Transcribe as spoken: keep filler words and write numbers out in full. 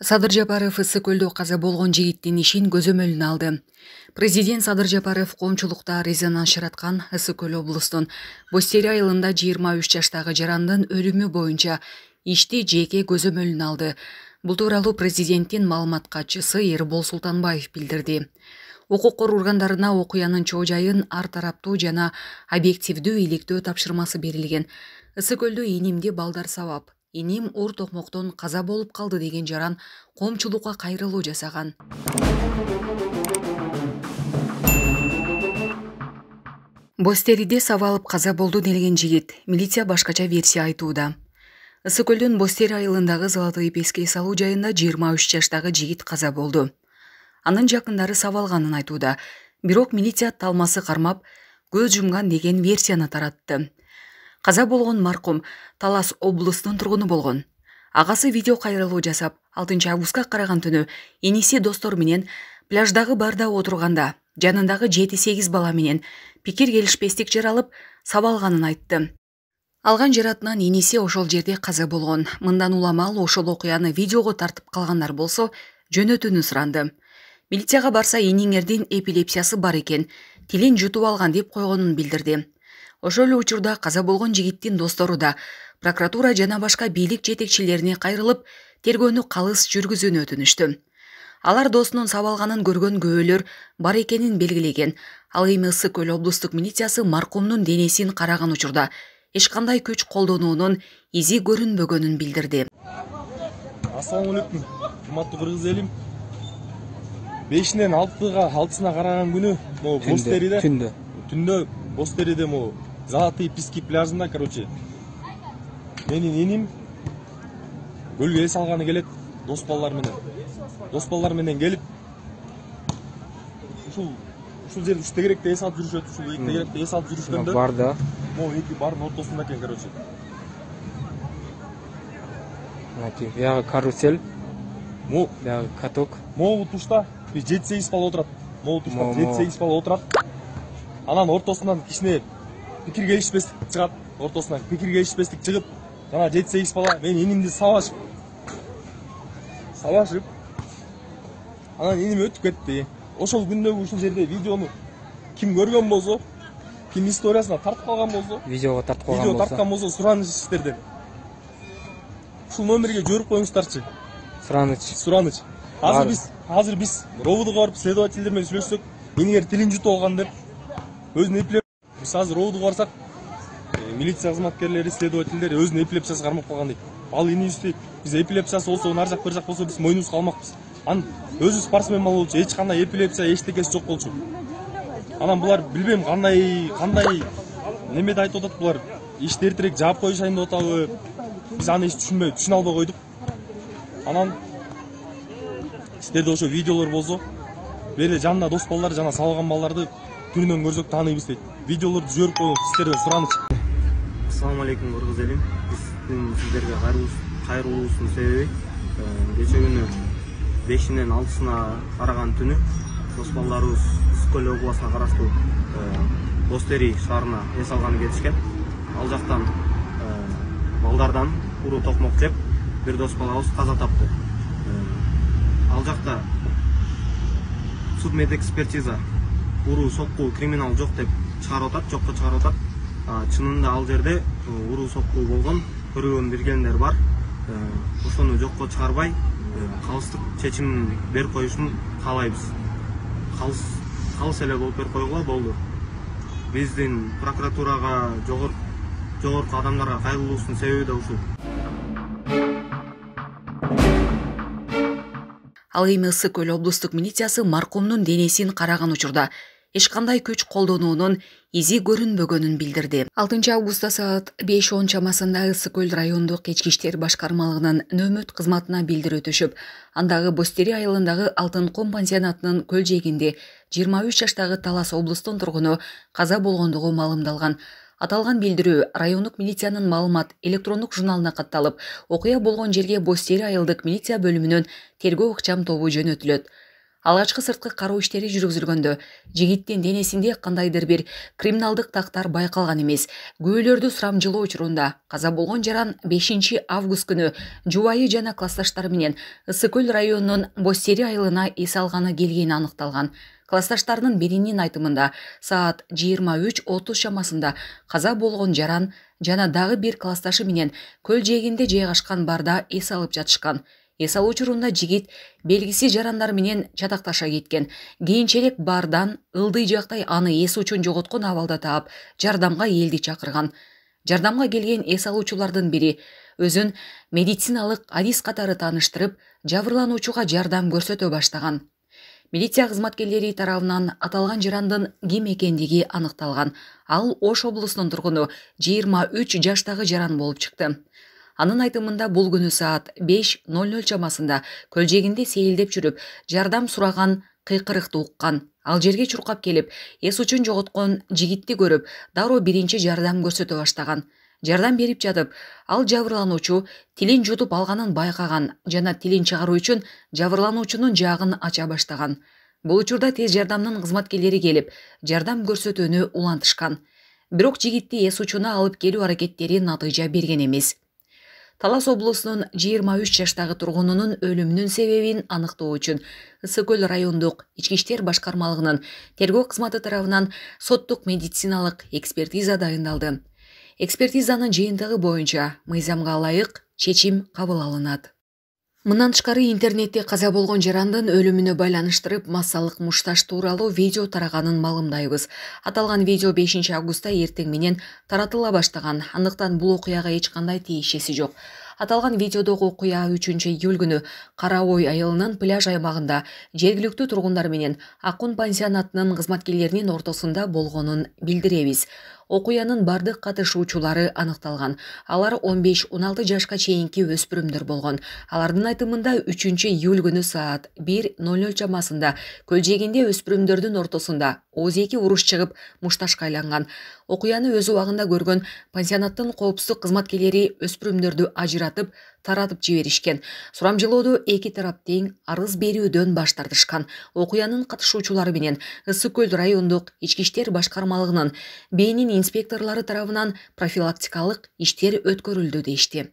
Садыр Жапаров ысык көлдө каза болгон жигиттин ишин көзөмөлүнө алды. Президент Садыр Жапаров коомчулукта резонанс жараткан Ысык көл облустун Бостери айылында жыйырма үч жаштагы жарандын өлүмү боюнча ишти жеке көзөмөлүнө алды. Бул тууралуу президенттин маалымат катчысы Эрбол Султанбаев билдирди. Укук коргоо органдарына окуянын чоо жайын ар тараптуу жана объективдүү иликтөө тапшырмасы берилген. Ысык көлдө инимди балдар сабап, иним оор токмоктон каза болуп калды деген жаран коомчулукка кайрылуу жасаган. Бостериде сабалып каза болду делген жигит милиция башкача версия айтууда. Ысык көлдүн Бостери айылындагы Золотый песке салуу жайында жыйырма үч жаштагы жигит каза болду. Анын жакындары сабалганын айтууда, бирок милиция талмасы кармап көз жумган деген версияны таратты. Каза болгон маркум Талас облустунун тургуну болгон. Агасы видео кайрылуу жасап, алтынчы августка караган түнү иниси достор менен пляждагы барда отурганда жанындагы жети сегиз бала менен пикир келишпестик жаралып сабалганын айтты. Алган жаратынан иниси ошол жерде каза болгон. Мындан улам ал ошол окуяны видеого тартып калгандар болсо жөнөтүүнү суранды. Милицияга барса иниңердин эпилепсиясы бар экен, тилин жутуп алган деп койгонун билдирди. Ошол эле учурда каза болгон жигиттин достору да прокуратура жана башка бийлик жетекчилерине кайрылып, тергөөнү калыс жүргүзүүнү өтүнүштү. Алар досунун сабалганын көргөн күбөлөр бар экенин белгилеген. Ал эми Ысык көл облустук милициясы маркумдун денесин караган учурда эч кандай күч колдонуунун изи көрүнбөгөнүн билдирди. Ассаламу алейкум, урматтуу кыргыз элим. бешинен алтыга алтысына караган күнү могу Бостериде түндө түндө Бостериде могу Золотый пески пляжында, короче, менин иним көлгө эс алганы келет дос балдар менен. Дос балдар менен келип ушул ушул жерде үч тегеректе эс алып жүрүшөт, ушул эки тегеректе эс алып жүрүшкөндө бар да. Могу эки бардын ортосунда экен, короче. Мати, бягы карусель, могу бягы каток. Могу тушта жети сегиз бала отурат. Могу тушта жети сегиз бала отурат. Анан ортосунан кичине пикир келишпестик чыгат. Ортосунан пикир келишпестик чыгып, жана жети сегиз бала мен инимди сабашып. Сабашып. Анан иним өтүп кетти. Ошол күндөгү ушул жерде видеону ким көргөн болсо, ким историясына тартып калган болсо, видеого тартып калган болсо, видео тарткан болсо сураныч сиздерден. Ушул номерге жиберип коюңуздарчы. Сураныч. Сураныч. Азыр биз, азыр биз ровдго барып следовательдер менен сүйлөшсөк, иниңер тилин жутуп алган деп өзүн эпилеп, биз азыр ровдго барсак, милиция кызматкерлери, следовательдер өзүнүн эпилепсиясы кармап калган дейт. Ал инибизди биз эпилепсиясы болсо, нар жак бер жак болсо биз мойнубузга алмакпыз. Анын өзү спортсмен болчу, эч кандай эпилепсия, эчтекеси жок болчу. Анан булар билбейм кандай кандай немеде айтып атат булар. Ишти эртерээк жаап коюшайын деп атабы? Биз аны эч түшүнбөй, түшүнө албай койдук. Анан сиздерде ошо видеолор болсо, берде жанында дос балдар жана сабалган балдарды түрүнөн көрсөк тааныйбыз дейт. Видеолорду жиберип коюңуз, сиздерден сураныч. Ассаламу алейкум кыргыз элим. Биздин сиздерге кайрылуубуздун себеби кече күнү бешинен алтысына караган түнү дос балдарыбыз Ысык көл областына караштуу Бостери шаарына эс алганы кетишкен. Ал жактан балдардан уруу токмок жеп бир дос балабыз каза тапты. Ал жакта судмед экспертиза уруу сокку криминал жок деп чыгарып атат, жокко чыгарып атат. Чынында ал жерде уруу сокку болгон көргөн биргендер бар. Ошону жокко чыгарбай калыстык чечим берип коюшун каалайбыз. Калыс калыс эле болуп берип койгула болду. Биздин прокуратурага, жогорку жогорку адамдарга кайрылуубуздун себеби да ушул. Ал эми Ысык көл облустук милициясы маркумдун денесин караган учурда эч кандай күч колдонуунун изи көрүнбөгөнүн билдирди. алтынчы августта саат беш он чамасында Ысык көл райондук ички иштер башкармалыгынын нөөмөт кызматына билдирүү түшүп, андагы Бостери айылындагы Алтын ком пансионатынын көл жээгинде жыйырма үч жаштагы Талас облустунун тургуну каза болгондугу маалымдалган. Аталган билдирүү райондук милициянын маалымат электрондук журналына катталып, окуя болгон жерге Бостери айылдык милиция бөлүмүнүн тергөө ыкчам тобу жөнөтүлөт. Алгачкы сырткы кароо иштери жүргүзүлгөндө жигиттин денесинде кандайдыр бир криминалдык тактар байкалган эмес. Күбөлөрдү сурамжылоо учурунда каза болгон жаран бешинчи август күнү жубайы жана классташтары менен Ысык көл районунун Бостери айылына эс алганы келгени аныкталган. Классташтарынын биринин айтымында саат жыйырма үч отуз чамасында каза болгон жаран жана дагы бир классташы менен көл жээгинде жайгашкан барда эс алып жатышкан. Эс алуу учурунда жигит белгисиз жарандар менен чатакташа кеткен. Кийинчерээк бардан ылдый жактай аны эс учун жоготкон абалда таап, жардамга элди чакырган. Жардамга келген эс алуучулардын бири өзүн медициналык адис катары тааныштырып, жабырлануучуга жардам көрсөтө баштаган. Милиция кызматкерлери тарабынан аталган жарандын ким экендиги аныкталган. Ал Ош облусунун тургуну жыйырма үч жаштагы жаран болуп чыкты. Анын айтымында бул күнү саат беш ноль ноль чамасында көл жээгинде сейилдеп жүрүп, жардам сураган кыйкырыкты уккан. Ал жерге чуркап келип, эс учун жоготкон жигитти көрүп, дароо биринчи жардам көрсөтө баштаган. Жардам берип жатып, ал жабырлануучу тилин жутуп алганын байкаган жана тилин чыгаруу үчүн жабырлануучунун жаагын ача баштаган. Бул учурда тез жардамдын кызматкерлери келип, жардам көрсөтүүнү улантышкан. Бирок жигитти эс учуна алып келүү аракеттери натыйжа берген эмес. Талас облусунун жыйырма үч жаштагы тургунунун өлүмүнүн себебин аныктоо үчүн Ысык көл райондук ички иштер башкармалыгынын тергөө кызматы тарабынан соттук медициналык экспертиза дайындалды. Экспертизанын жыйынтыгы боюнча мыйзамга ылайык чечим кабыл алынат. Мындан тышкары интернетте каза болгон жарандын өлүмүнө байланыштырып массалык мушташ тууралуу видео тараганын маалымдайбыз. Аталган видео бешинчи августта эртең менен таратыла баштаган, андыктан бул окуяга эч кандай тиешеси жок. Аталган видеодогу окуя үчүнчү июль күнү Кара Ой айылынын пляж аймагында жергиликтүү тургундар менен Акун пансионатынын кызматкерлеринин ортосунда болгонун билдиребиз. Окуянын бардык катышуучулары аныкталган. Алар он беш он алты жашка чейинки өспүрүмдөр болгон. Алардын айтымында үчүнчү июль күнү саат бир ноль ноль чамасында көл жээгинде өспүрүмдөрдүн ортосунда ооз эки уруш чыгып мушташка айланган. Окуяны өз убагында көргөн пансионаттын коопсуздук кызматкерлери өспүрүмдөрдү ажыратып, таратып жиберишкен. Сурамжылоодо эки тарап тең арыз берүүдөн баш тартышкан. Окуянын катышуучулары менен Ысык көл райондук ички иштер башкармалыгынын бээнин инспекторлору тарабынан профилактикалык иштер өткөрүлдү дешти.